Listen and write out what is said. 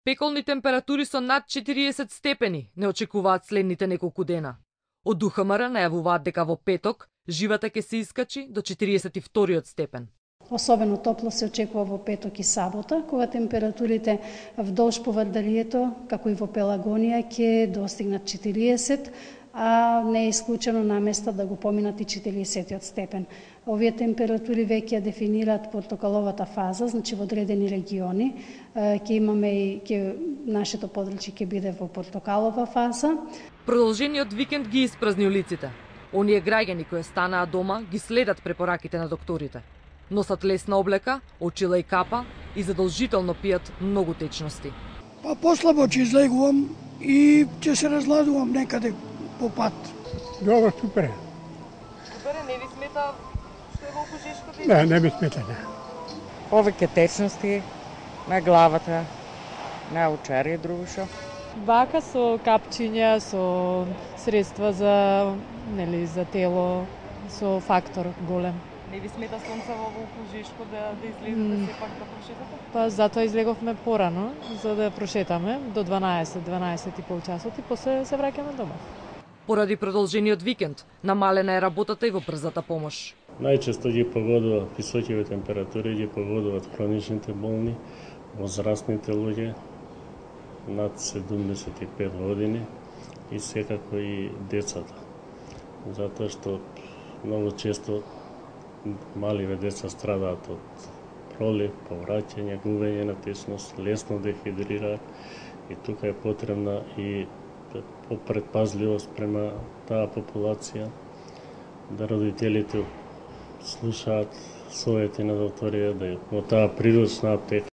Пеколни температури со над 40 степени не очекуваат следните неколку дена. Од УХМР најавуваат дека во петок живата ќе се искачи до 42 степен. Особено топло се очекува во петок и сабота, кога температурите вдолж поврделието, како и во Пелагонија, ќе достигнат 40, а не е исклучено на места да го поминат и 40 степен. Овие температури веќе дефинираат портокаловата фаза, значи во одредени региони ќе имаме и нашето подрачје ќе биде во портокалова фаза. Продолжениот викенд ги испразни улиците. Оние граѓани кои станаа дома ги следат препораките на докторите. Носат лесна облека, очила и капа и задолжително пијат многу течности. Послабо ќе излегувам и ќе се разладувам некаде по пат. Добро, супер. Супер, не ви смета што е во Кожешко? Не ми смета, не. Повеќе течности на главата, на очари и друго шо. Бака со капчиња, со средства за тело, со фактор голем. Не ви смета сонцево во Кожешко да излезете сепак да прошетате? Па затоа излеговме порано, за да прошетаме до 12 и пол часот и после се враќаме дома. Поради продолжениот викенд, намалена е работата и во брзата помош. Најчесто ги погодуваат високите температури, ги погодуваат хроничните болни, возрастните луѓе над 75 години и секако и децата. Затоа што многу често маливе деца страдаат од пролив, повраќање, губење на течност, лесно дехидрираат и тука е потребна и предпазливост према таа популација, да родителите слушаат совети на докторија, да во таа приручна аптека